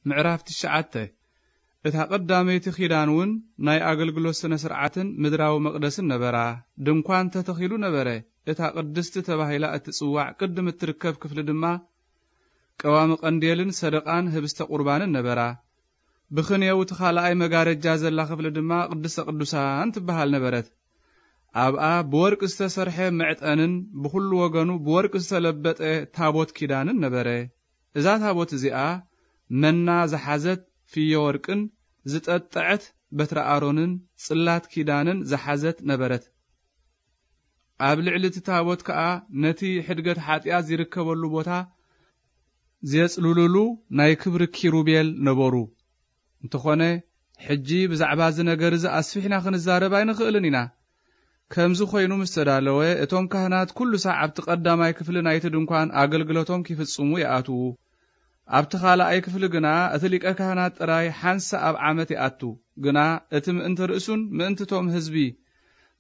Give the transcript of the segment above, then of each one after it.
ምዕራፍ ትሽዓተ። እታ ቀዳመይቲ ኪዳን እውን ናይ ኣገልግሎት ስነ ስርዓትን ምድራዊ መቕደስን ነበራ። ድንኳን ተተኺሉ ነበረ። እታ ቅድስቲ ተባሂላ እትጽዋዕ ቅድም እትርከብ ክፍሊ ድማ ቀዋሚ ቀንዴልን ሰደቓን ህብስተ ቁርባንን ነበራ። ብኽንየው እቲ ካልኣይ መጋረጃ ዘላ ክፍሊ ድማ ቅድስተ ቅዱሳን ትበሃል ነበረት። ኣብኣ ብወርቂ ዝተሰርሐ መዕጠንን ብኹሉ ወገኑ ብወርቂ ዝተለበጠ ታቦት ኪዳንን ነበረ። እዛ ታቦት እዚኣ መና ዝሓዘት ፍዮ ወርቅን ዝጠጠዐት በትረ ኣሮንን ጽላት ኪዳንን ዝሓዘት ነበረት። ኣብ ልዕሊ እቲ ታቦት ከኣ ነቲ ሕድገት ሓጢኣት ዝርከበሉ ቦታ ዜጽልሉሉ ናይ ክብሪ ኪሩቤል ነበሩ። እንተኾነ፣ ሕጂ ብዛዕባ እዚ ነገር እዚ ኣስፊሕና ክንዛረብ ኣይንኽእልን ኢና። ከምዚ ኾይኑ ምስ ተዳለወ፣ እቶም ካህናት ኩሉ ሳዕ ኣብቲ ቀዳማይ ክፍሊ ናይቲ ድንኳን ኣገልግሎቶም ኪፍጽሙ ይኣትዉ። ኣብቲ ኻልኣይ ክፍሊ ግና እቲ ሊቀ ካህናት ጥራይ ሓንሳእ ኣብ ዓመት ይኣቱ። ግና እቲ ምእንቲ ርእሱን ምእንቲ እቶም ህዝቢ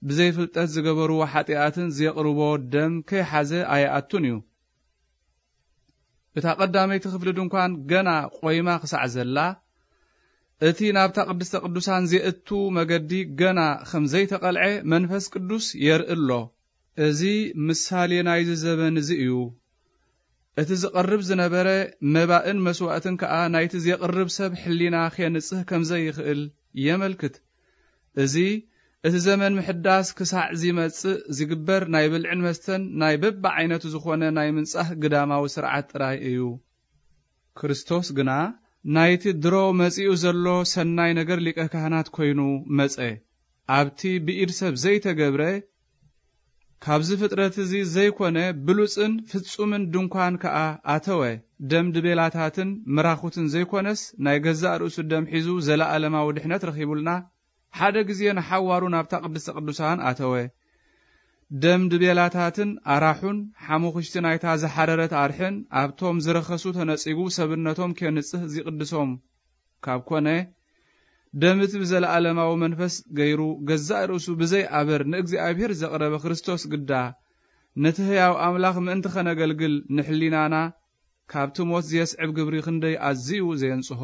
ብዘይፍልጠት ዝገበርዎ ሓጢኣትን ዜቕርቦ ደም ከይሓዘ ኣይኣቱን እዩ። እታ ቀዳመይቲ ክፍሊ ድንኳን ገና ቖይማ ክሳዕ ዘላ፣ እቲ ናብታ ቅድስተ ቅዱሳን ዜእቱ መገዲ ገና ኸም ዘይተቐልዐ መንፈስ ቅዱስ የርኢ ኣሎ። እዚ ምሳሌ ናይዚ ዘበን እዚ እዩ። እቲ ዝቐርብ ዝነበረ መባእን መስዋእትን ከኣ ናይቲ ዜቕርብ ሰብ ሕሊና ኼንጽህ ከም ዘይኽእል የመልክት። እዚ እቲ ዘመን ምሕዳስ ክሳዕ ዚመጽእ ዚግበር ናይ ብልዕን መስተን ናይ በብዓይነቱ ዝኾነ ናይ ምንጻህ ግዳማዊ ስርዓት ጥራይ እዩ። ክርስቶስ ግና ናይቲ ድሮ መጺኡ ዘሎ ሰናይ ነገር ሊቀ ካህናት ኮይኑ መጸ። ኣብቲ ብኢድ ሰብ ዘይተገብረ፣ ካብዚ ፍጥረት እዚ ዘይኮነ ብሉጽን ፍጹምን ድንኳን ከኣ ኣተወ። ደም ድቤላታትን ምራኹትን ዘይኮነስ ናይ ገዛእ ርእሱ ደም ሒዙ ዘለኣለማዊ ድሕነት ረኺቡልና፣ ሓደ ግዜ ንሓዋሩ ናብታ ቅድስተ ቅዱሳን ኣተወ። ደም ድቤላታትን ኣራሑን ሓሙኽሽቲ ናይታ ዝሓረረት ኣርሕን ኣብቶም ዝረኸሱ ተነጺጉ ሰብነቶም ኬንጽህ ዚቕድሶም ካብ ኮነ፣ ደም እቲ ብዘለኣለማዊ መንፈስ ገይሩ ገዛእ ርእሱ ብዘይ ኣበር ንእግዚኣብሔር ዘቕረበ ክርስቶስ ግዳ፣ ነቲ ህያው ኣምላኽ ምእንቲ ኸነገልግል ንሕሊናና ካብቲ ሞት ዜስዕብ ግብሪ ክንደይ ኣዝዩ ዘየንጽሆ!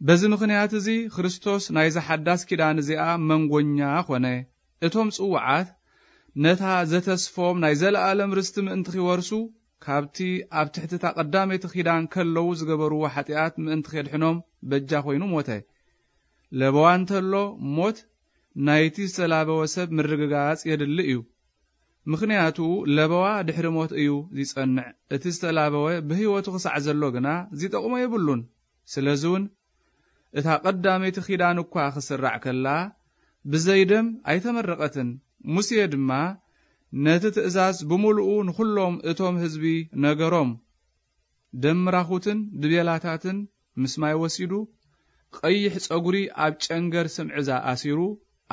በዚ ምኽንያት እዚ ክርስቶስ ናይዛ ሓዳስ ኪዳን እዚኣ መንጎኛ ኾነ። እቶም ጽዉዓት ነታ ዘተስፎም ናይ ዘለኣለም ርስቲ ምእንቲ ኺወርሱ፣ ካብቲ ኣብ ትሕቲ እታ ቀዳመይቲ ኪዳን ከለዉ ዝገበርዎ ሓጢኣት ምእንቲ ኼድሕኖም በጃ ኾይኑ ሞተ። ለበዋ እንተሎ ሞት ናይቲ ዝተላበወ ሰብ ምርግጋጽ የድሊ እዩ። ምኽንያቱ ለበዋ ድሕሪ ሞት እዩ ዚጸንዕ። እቲ ዝተላበወ ብህይወቱ ክሳዕ ዘሎ ግና ዚጠቕሞ የብሉን። ስለዚ እውን እታ ቀዳመይቲ ኪዳን እኳ ክስራዕ ከላ ብዘይ ደም ኣይተመረቐትን። ሙሴ ድማ ነቲ ትእዛዝ ብምሉኡ ንኹሎም እቶም ህዝቢ ነገሮም። ደም ምራኹትን ድቤላታትን ምስ ማይ ወሲዱ፣ ቀይሕ ጸጉሪ ኣብ ጨንገር ስምዕዛ ኣሲሩ፣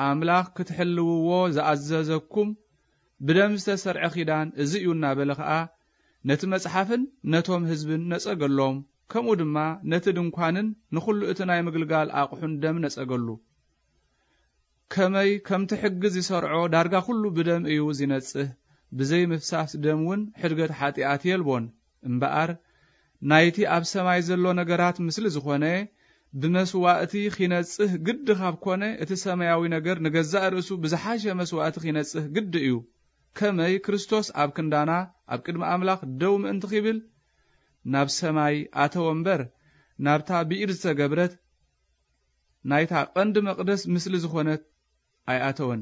ኣምላኽ ክትሕልውዎ ዝኣዘዘኩም ብደም ዝተሰርዐ ኪዳን እዚ እዩ እናበለ ኸኣ፣ ነቲ መጽሓፍን ነቶም ህዝብን ነጸገሎም። ከምኡ ድማ ነቲ ድንኳንን ንኹሉ እቲ ናይ ምግልጋል ኣቕሑን ደም ነጸገሉ። ከመይ ከምቲ ሕጊ ዚሰርዖ ዳርጋ ኩሉ ብደም እዩ ዚነጽህ፣ ብዘይ ምፍሳስ ደም እውን ሕድገት ሓጢኣት የልቦን። እምበኣር ናይቲ ኣብ ሰማይ ዘሎ ነገራት ምስሊ ዝኾነ ብመስዋእቲ ኺነጽህ ግዲ ካብ ኮነ፣ እቲ ሰማያዊ ነገር ንገዛእ ርእሱ ብዝሓሸ መስዋእቲ ኺነጽህ ግዲ እዩ። ከመይ ክርስቶስ ኣብ ክንዳና ኣብ ቅድሚ ኣምላኽ ደው ምእንቲ ኺብል ናብ ሰማይ ኣተወ እምበር፣ ናብታ ብኢድ ዝተገብረት ናይታ ቐንዲ መቕደስ ምስሊ ዝኾነት ኣይኣተወን።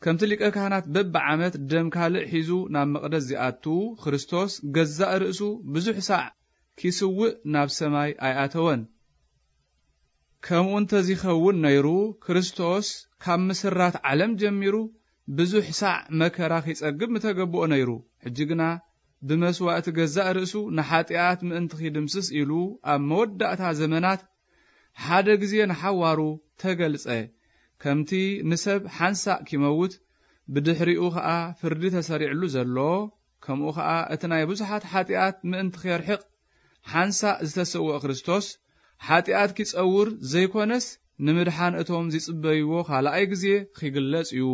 ከምቲ ሊቀ ካህናት በብዓመት ደም ካልእ ሒዙ ናብ መቕደስ ዚኣቱ፣ ክርስቶስ ገዛእ ርእሱ ብዙሕ ሳዕ ኪስውእ ናብ ሰማይ ኣይኣተወን። ከምኡ እንተ ዚኸውን ነይሩ፣ ክርስቶስ ካብ ምስራት ዓለም ጀሚሩ ብዙሕ ሳዕ መከራ ኺጸግብ ምተገብኦ ነይሩ። ሕጂ ግና ብመስዋእቲ ገዛእ ርእሱ ንሓጢኣት ምእንቲ ኺድምስስ ኢሉ ኣብ መወዳእታ ዘመናት ሓደ ግዜ ንሓዋሩ ተገልጸ። ከምቲ ንሰብ ሓንሳእ ኪመውት ብድሕሪኡ ኸኣ ፍርዲ ተሰሪዕሉ ዘሎ፣ ከምኡ ኸኣ እቲ ናይ ብዙሓት ሓጢኣት ምእንቲ ኼርሕቕ ሓንሳእ ዝተሰውአ ክርስቶስ፣ ሓጢኣት ኪጸውር ዘይኮነስ፣ ንምድሓን እቶም ዚጽበይዎ ኻልኣይ ግዜ ኺግለጽ እዩ።